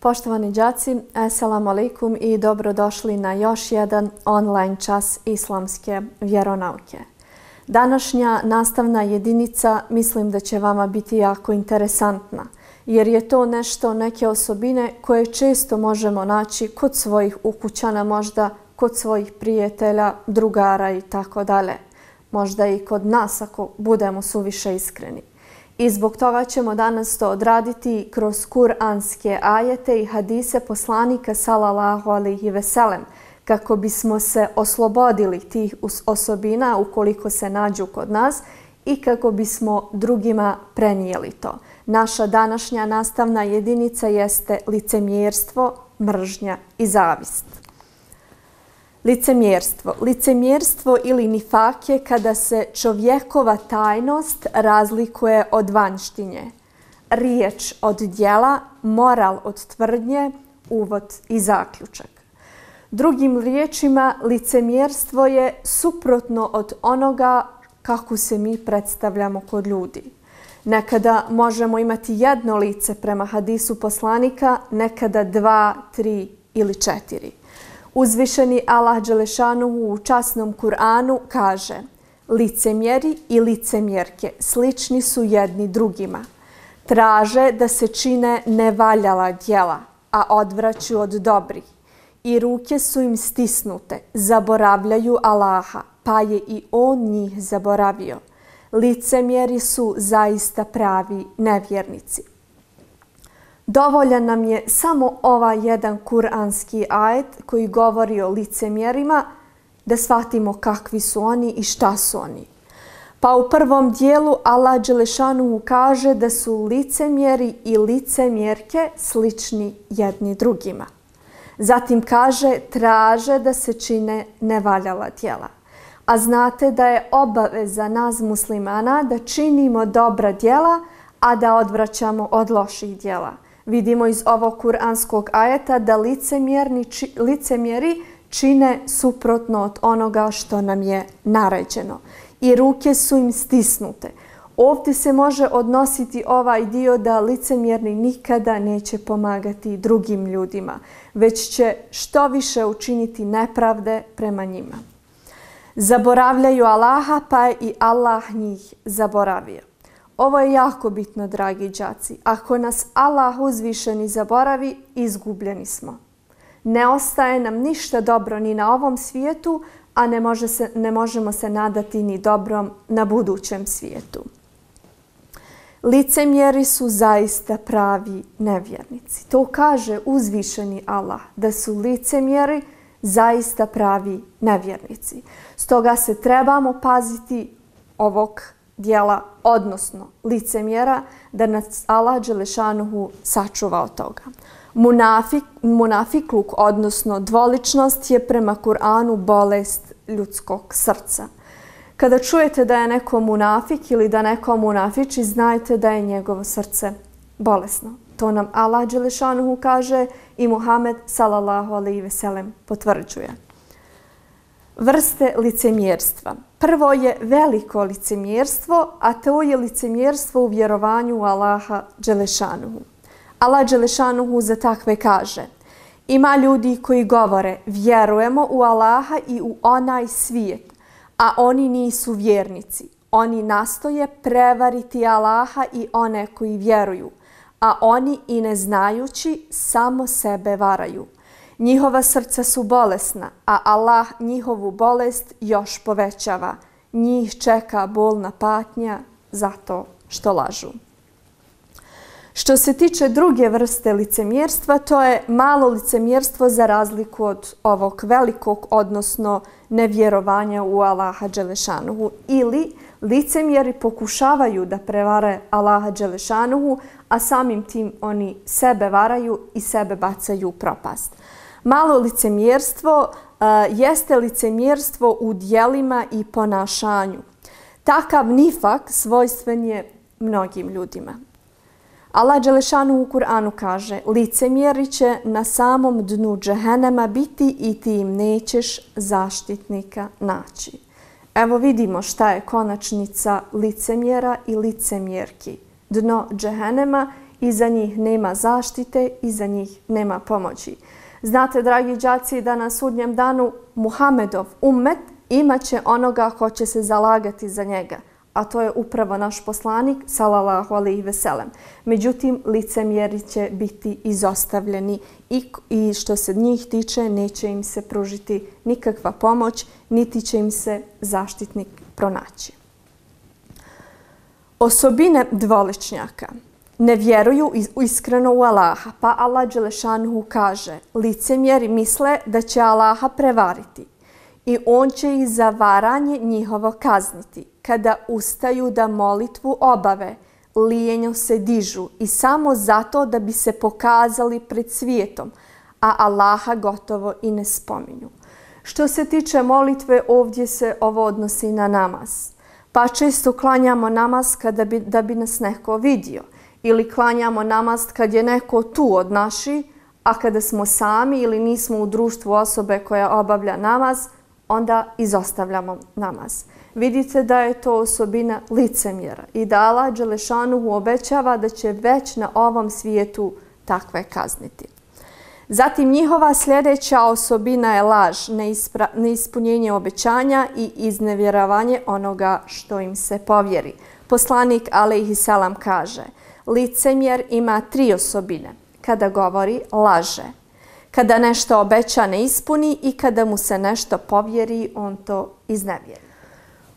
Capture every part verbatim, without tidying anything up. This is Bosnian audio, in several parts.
Poštovani đaci, assalamu alaikum i dobrodošli na još jedan online čas islamske vjeronauke. Današnja nastavna jedinica mislim da će vama biti jako interesantna, jer je to nešto, neke osobine koje često možemo naći kod svojih ukućana, možda kod svojih prijatelja, drugara i tako dalje. Možda i kod nas ako budemo suviše iskreni. I zbog toga ćemo danas to odraditi kroz kuranske ajete i hadise poslanika sallallahu alejhi ve sellem, kako bismo se oslobodili tih osobina ukoliko se nađu kod nas i kako bismo drugima prenijeli to. Naša današnja nastavna jedinica jeste licemjerstvo, mržnja i zavist. Licemjerstvo. Licemjerstvo ili nifak je kada se čovjekova tajnost razlikuje od vanjštinje. Riječ od djela, moral od tvrdnje, uvod i zaključak. Drugim riječima, licemjerstvo je suprotno od onoga kako se mi predstavljamo kod ljudi. Nekada možemo imati jedno lice prema hadisu poslanika, nekada dva, tri ili četiri. Uzvišeni Allah Đelešanuhu u časnom Kur'anu kaže: licemjeri i licemjerke slični su jedni drugima. Traže da se čine nevaljala djela, a odvraću od dobrih. I ruke su im stisnute, zaboravljaju Allaha, pa je i On njih zaboravio. Licemjeri su zaista pravi nevjernici. Dovoljan nam je samo ovaj jedan kuranski ajet koji govori o licemjerima da shvatimo kakvi su oni i šta su oni. Pa u prvom dijelu Allah Đelešanuhu kaže da su licemjeri i licemjerke slični jedni drugima. Zatim kaže traže da se čine nevaljala djela. A znate da je obaveza nas muslimana da činimo dobra djela, a da odvraćamo od loših djela. Vidimo iz ovog kuranskog ajeta da licemjerni, či, licemjeri čine suprotno od onoga što nam je naređeno. I ruke su im stisnute. Ovdje se može odnositi ovaj dio da licemjerni nikada neće pomagati drugim ljudima, već će što više učiniti nepravde prema njima. Zaboravljaju Allaha, pa je i Allah njih zaboravio. Ovo je jako bitno, dragi đaci. Ako nas Allah uzvišeni zaboravi, izgubljeni smo. Ne ostaje nam ništa dobro ni na ovom svijetu, a ne, može se, ne možemo se nadati ni dobrom na budućem svijetu. Licemjeri su zaista pravi nevjernici. To kaže uzvišeni Allah, da su licemjeri zaista pravi nevjernici. Stoga se trebamo paziti ovog djela, odnosno licemjera, da nas Allah Đelešanuhu sačuva od toga. Munafik, munafikluk, odnosno dvoličnost, je prema Kur'anu bolest ljudskog srca. Kada čujete da je neko munafik ili da neko munafiči, znajte da je njegovo srce bolesno. To nam Allah Đelešanuhu kaže i Muhammed sallallahu alejhi ve sellem potvrđuje. Vrste licemjerstva. Prvo je veliko licemjerstvo, a to je licemjerstvo u vjerovanju u Allaha Đelešanuhu. Allah Đelešanuhu za takve kaže: ima ljudi koji govore vjerujemo u Allaha i u onaj svijet, a oni nisu vjernici. Oni nastoje prevariti Allaha i one koji vjeruju, a oni i ne znajući samo sebe varaju. Njihova srca su bolesna, a Allah njihovu bolest još povećava. Njih čeka bolna patnja zato što lažu. Što se tiče druge vrste licemjerstva, to je malo licemjerstvo za razliku od ovog velikog, odnosno nevjerovanja u Allaha Đelešanuhu. Ili licemjeri pokušavaju da prevare Allaha Đelešanuhu, a samim tim oni sebe varaju i sebe bacaju u propast. Malo licemjerstvo uh, jeste licemjerstvo u djelima i ponašanju. Takav nifak svojstven je mnogim ljudima. Allah Đelešanu u Kur'anu kaže: licemjeri će na samom dnu džehennema biti i ti im nećeš zaštitnika naći. Evo vidimo šta je konačnica licemjera i licemjerki. Dno džehennema Iza njih nema zaštite, iza njih nema pomoći. Znate, dragi đaci, da na sudnjem danu Muhamedov ummet imaće onoga ko će se zalagati za njega, a to je upravo naš poslanik, sallallahu alejhi ve sellem. Međutim, licemjeri će biti izostavljeni i, i što se njih tiče, neće im se pružiti nikakva pomoć, niti će im se zaštitnik pronaći. Osobine dvoličnjaka. Ne vjeruju iskreno u Allaha, pa Allah dželešanuhu kaže: licemjeri misle da će Allaha prevariti i on će ih za varanje njihovo kazniti. Kada ustaju da molitvu obave, lijenjo se dižu i samo zato da bi se pokazali pred svijetom, a Allaha gotovo i ne spominju. Što se tiče molitve, ovdje se ovo odnosi na namaz. Pa često klanjamo namaz kada bi, da bi nas neko vidio. Ili klanjamo namaz kad je neko tu od naši, a kada smo sami ili nismo u društvu osobe koja obavlja namaz, onda izostavljamo namaz. Vidite da je to osobina licemjera i da Allah dželešanuhu obećava da će već na ovom svijetu takve kazniti. Zatim njihova sljedeća osobina je laž, neispra- neispunjenje obećanja i iznevjeravanje onoga što im se povjeri. Poslanik alejhi selam kaže: licemjer ima tri osobine. Kada govori, laže. Kada nešto obeća, ne ispuni i kada mu se nešto povjeri, on to iznevjeri.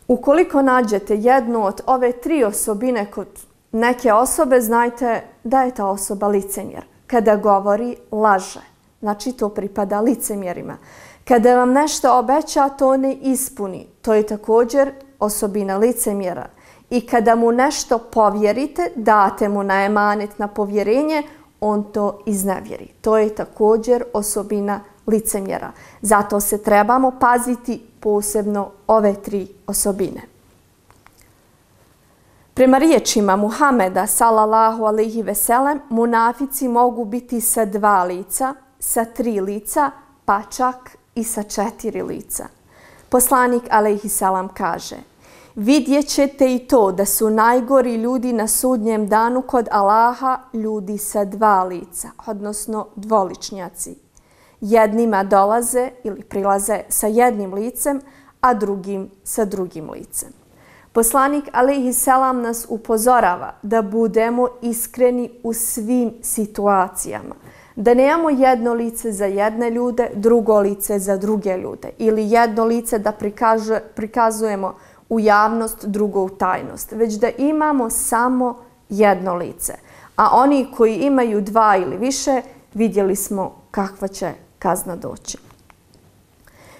Ukoliko nađete jednu od ove tri osobine kod neke osobe, znajte da je ta osoba licemjer. Kada govori, laže. Znači to pripada licemjerima. Kada vam nešto obeća, to ne ispuni. To je također osobina licemjera. I kada mu nešto povjerite, date mu na emanet, na povjerenje, on to iznevjeri. To je također osobina licemjera. Zato se trebamo paziti posebno ove tri osobine. Prema riječima Muhameda, sallallahu alejhi ve sellem, munafici mogu biti sa dva lica, sa tri lica, pa čak i sa četiri lica. Poslanik alejhi selam kaže: vidjet ćete i to da su najgori ljudi na sudnjem danu kod Allaha ljudi sa dva lica, odnosno dvoličnjaci. Jednima dolaze ili prilaze sa jednim licem, a drugim sa drugim licem. Poslanik alejhi selam nas upozorava da budemo iskreni u svim situacijama. Da nemamo jedno lice za jedne ljude, drugo lice za druge ljude. Ili jedno lice da prikaže, prikazujemo u javnost, drugo u tajnost. Već da imamo samo jedno lice. A oni koji imaju dva ili više, vidjeli smo kakva će kazna doći.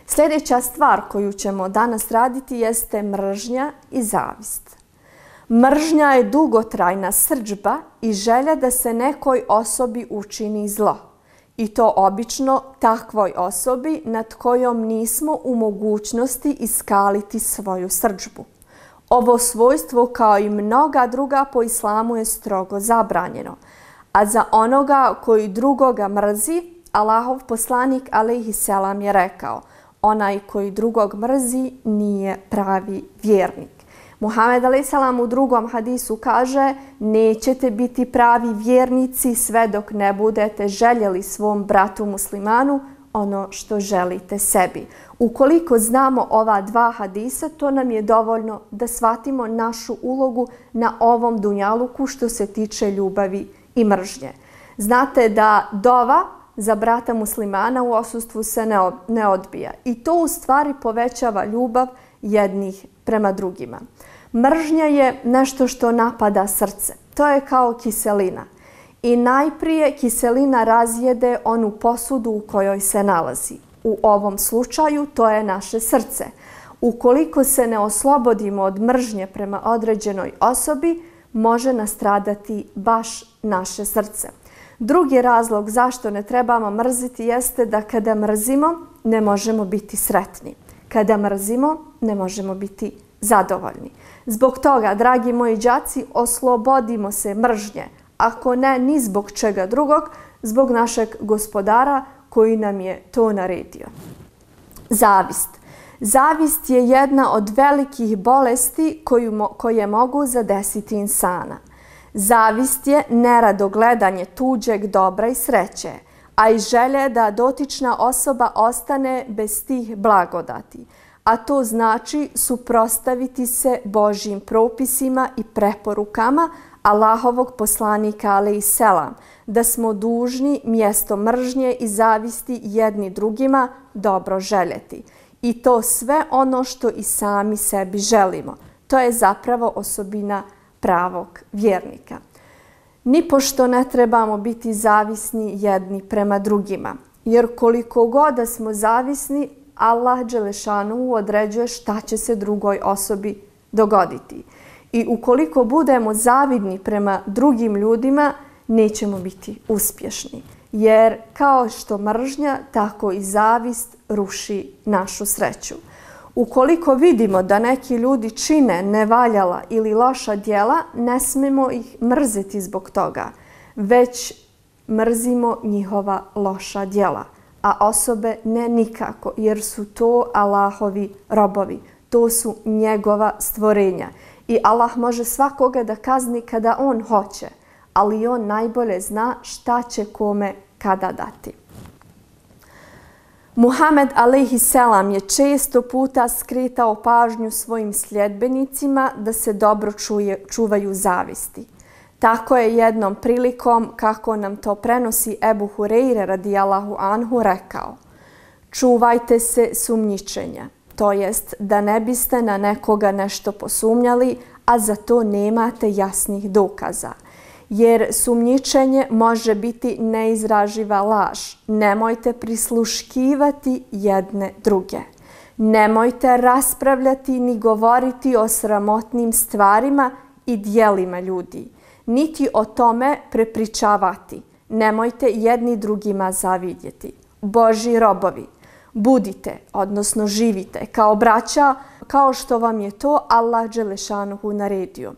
Sljedeća stvar koju ćemo danas raditi jeste mržnja i zavist. Mržnja je dugotrajna srdžba i želja da se nekoj osobi učini zlo. I to obično takvoj osobi nad kojom nismo u mogućnosti iskaliti svoju srdžbu. Ovo svojstvo, kao i mnoga druga po islamu, je strogo zabranjeno. A za onoga koji drugoga mrzi, Allahov poslanik alejhi selam je rekao: onaj koji drugog mrzi nije pravi vjernik. Muhammed alejhi selam u drugom hadisu kaže: nećete biti pravi vjernici sve dok ne budete željeli svom bratu muslimanu ono što želite sebi. Ukoliko znamo ova dva hadisa, to nam je dovoljno da shvatimo našu ulogu na ovom dunjaluku što se tiče ljubavi i mržnje. Znate da dova za brata muslimana u odsustvu se ne odbija i to u stvari povećava ljubav jednih prema drugima. Mržnja je nešto što napada srce. To je kao kiselina. I najprije kiselina razjede onu posudu u kojoj se nalazi. U ovom slučaju to je naše srce. Ukoliko se ne oslobodimo od mržnje prema određenoj osobi, može nastradati baš naše srce. Drugi razlog zašto ne trebamo mrziti jeste da kada mrzimo ne možemo biti sretni. Kada mrzimo ne možemo biti zadovoljni. Zbog toga, dragi moji đaci, oslobodimo se mržnje, ako ne ni zbog čega drugog, zbog našeg gospodara koji nam je to naredio. Zavist. Zavist je jedna od velikih bolesti koju, koje mogu zadesiti insana. Zavist je nerado gledanje tuđeg dobra i sreće, a i želje da dotična osoba ostane bez tih blagodati. A to znači suprotstaviti se Božjim propisima i preporukama Allahovog poslanika alejselam, da smo dužni mjesto mržnje i zavisti jedni drugima dobro željeti. I to sve ono što i sami sebi želimo. To je zapravo osobina pravog vjernika. Nipošto ne trebamo biti zavisni jedni prema drugima, jer koliko god da smo zavisni, Allah dželešanu određuje šta će se drugoj osobi dogoditi. I ukoliko budemo zavidni prema drugim ljudima, nećemo biti uspješni. Jer kao što mržnja, tako i zavist ruši našu sreću. Ukoliko vidimo da neki ljudi čine nevaljala ili loša djela, ne smemo ih mrziti zbog toga, već mrzimo njihova loša djela. A osobe ne nikako, jer su to Allahovi robovi. To su njegova stvorenja. I Allah može svakoga da kazni kada on hoće, ali on najbolje zna šta će kome kada dati. Muhammed alejhiselam je često puta skretao pažnju svojim sljedbenicima da se dobro čuje, čuvaju zavisti. Tako je jednom prilikom, kako nam to prenosi Ebu Hureyre radijallahu anhu, rekao: čuvajte se sumnjičenja, to jest da ne biste na nekoga nešto posumnjali, a za to nemate jasnih dokaza. Jer sumnjičenje može biti neizraživa laž. Nemojte prisluškivati jedne druge. Nemojte raspravljati ni govoriti o sramotnim stvarima i djelima ljudi, niti o tome prepričavati. Nemojte jedni drugima zavidjeti. Božji robovi, budite, odnosno živite kao braća, kao što vam je to Allah dželešanuhu naredio.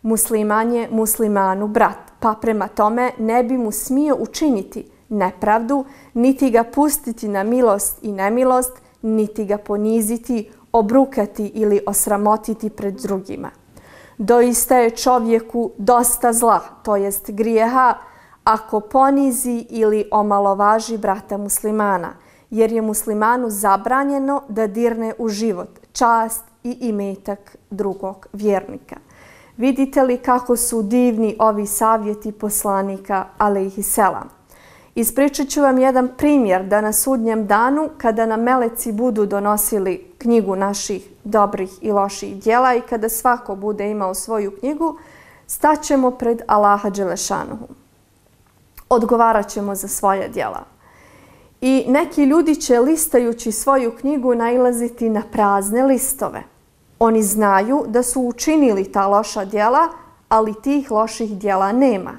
Musliman je muslimanu brat, pa prema tome ne bi mu smio učiniti nepravdu, niti ga pustiti na milost i nemilost, niti ga poniziti, obrukati ili osramotiti pred drugima. Doista je čovjeku dosta zla, to jest grijeha, ako ponizi ili omalovaži brata muslimana, jer je muslimanu zabranjeno da dirne u život, čast i imetak drugog vjernika. Vidite li kako su divni ovi savjeti poslanika alejhiselam? Ispričat ću vam jedan primjer da na sudnjem danu, kada nam meleci budu donosili knjigu naših dobrih i loših djela i kada svako bude imao svoju knjigu, staćemo pred Allaha dželešanuhu. Odgovarat ćemo za svoje djela. I neki ljudi će listajući svoju knjigu nailaziti na prazne listove. Oni znaju da su učinili ta loša djela, ali tih loših djela nema.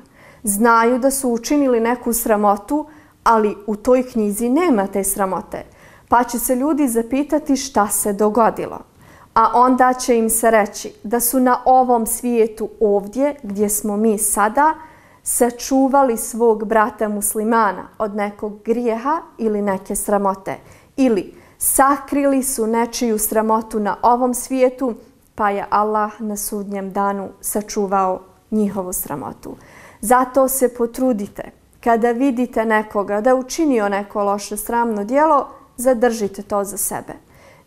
Znaju da su učinili neku sramotu, ali u toj knjizi nema te sramote. Pa će se ljudi zapitati šta se dogodilo. A onda će im se reći da su na ovom svijetu ovdje, gdje smo mi sada, sačuvali svog brata muslimana od nekog grijeha ili neke sramote. Ili sakrili su nečiju sramotu na ovom svijetu, pa je Allah na sudnjem danu sačuvao njihovu sramotu. Zato se potrudite, kada vidite nekoga da učinio neko loše sramno djelo, zadržite to za sebe.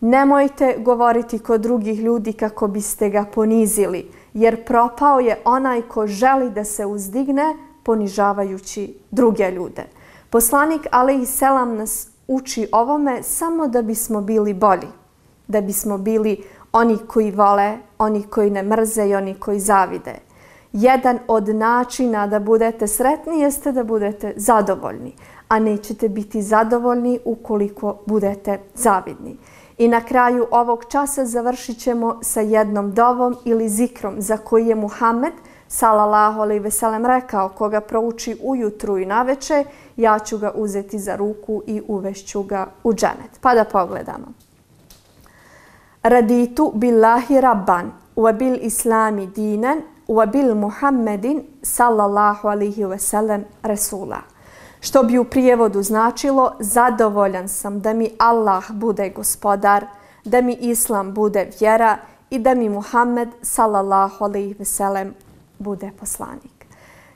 Nemojte govoriti kod drugih ljudi kako biste ga ponizili, jer propao je onaj ko želi da se uzdigne ponižavajući druge ljude. Poslanik alejhiselam nas uči ovome samo da bismo bili bolji, da bismo bili oni koji vole, oni koji ne mrze i oni koji zavide. Jedan od načina da budete sretni jeste da budete zadovoljni, a nećete biti zadovoljni ukoliko budete zavidni. I na kraju ovog časa završit ćemo sa jednom dovom ili zikrom za koji je Muhammed sallallahu alejhi ve sellem rekao: koga prouči ujutru i naveče, ja ću ga uzeti za ruku i uvešću ga u dženet. Pa da pogledamo. Raditu billahi rabban, wa bil islami dinan, wa bil Muhammedin sallallahu alejhi ve sellem rasula. Što bi u prijevodu značilo: zadovoljan sam da mi Allah bude gospodar, da mi Islam bude vjera i da mi Muhammed sallallahu alejhi ve sellem bude poslanik.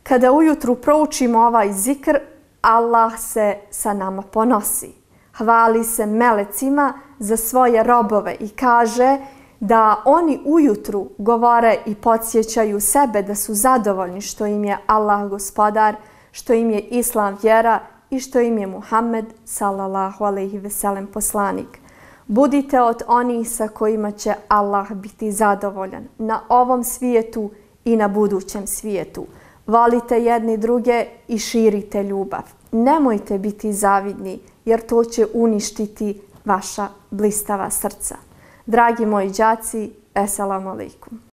Kada ujutru proučimo ovaj zikr, Allah se sa nama ponosi. Hvali se melecima za svoje robove i kaže da oni ujutru govore i podsjećaju sebe da su zadovoljni što im je Allah gospodar, što im je Islam vjera i što im je Muhammed sallallahu alejhi ve sellem poslanik. Budite od onih sa kojima će Allah biti zadovoljan na ovom svijetu i na budućem svijetu. Volite jedni druge i širite ljubav. Nemojte biti zavidni jer to će uništiti vaša blistava srca. Dragi moji đaci, eselamu alejkum.